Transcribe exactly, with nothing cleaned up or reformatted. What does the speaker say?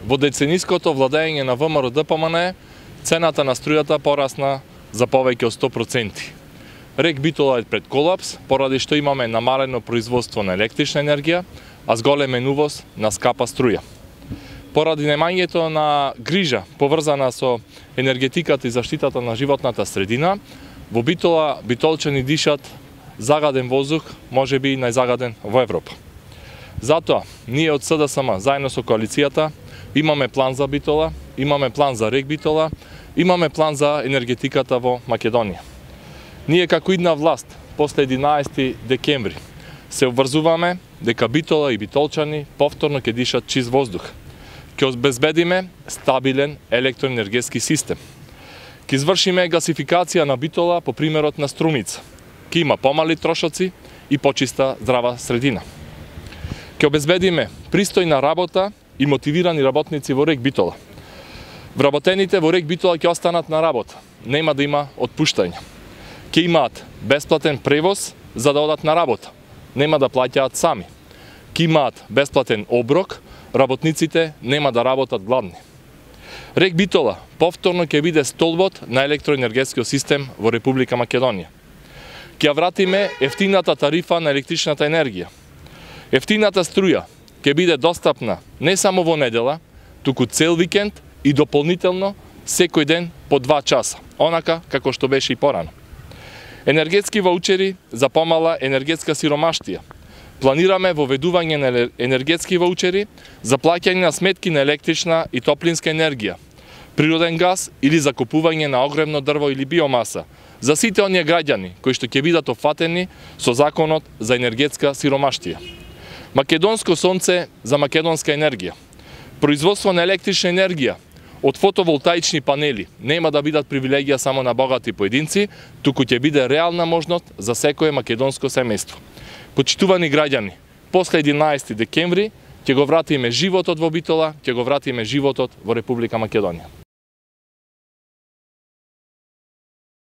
Во децениското владење на ВМРО-ДПМНЕ, цената на струјата порасна за повеќе од сто проценти. РЕК Битола е пред колапс, поради што имаме намалено производство на електрична енергија, а зголемен увоз на скапа струја. Поради немањето на грижа поврзана со енергетиката и заштитата на животната средина, во Битола битолчани дишат загаден воздух, можеби и најзагаден во Европа. Затоа, ние од СДСМ, заедно со коалицијата, имаме план за Битола, имаме план за РЕК Битола, имаме план за енергетиката во Македонија. Ние како идна власт, после единаесети декември, се обврзуваме дека Битола и битолчани повторно ќе дишат чист воздух. Ќе обезбедиме стабилен електроенергетски систем. Ќе извршиме гасификација на Битола по примерот на Струмица. Ќе има помали трошоци и почиста здрава средина. Ќе обезбедиме пристојна работа и мотивирани работници во РЕК Битола. Вработените во РЕК Битола ќе останат на работа, нема да има отпуштање. Ќе имаат бесплатен превоз за да одат на работа, нема да плаќаат сами. Ќе имаат бесплатен оброк, работниците нема да работат гладни. РЕК Битола повторно ќе биде столбот на електроенергетскиот систем во Република Македонија. Ќе вратиме ефтината тарифа на електричната енергија. Ефтината струја ќе биде достапна не само во недела, туку цел викенд и дополнително секој ден по два часа, онака како што беше и порано. Енергетски ваучери за помала енергетска сиромаштија. Планираме воведување на енергетски ваучери за плаќање на сметки на електрична и топлинска енергија, природен газ или закупување на огремно дрво или биомаса за сите оние граѓани кои што ќе бидат офатени со законот за енергетска сиромаштија. Македонско сонце за македонска енергија. Производство на електрична енергија од фотоволтаични панели нема да бидат привилегија само на богати поединци, туку ќе биде реална можност за секое македонско семејство. Почитувани граѓани, после единаесети декември ќе го вратиме животот во Битола, ќе го вратиме животот во Република Македонија.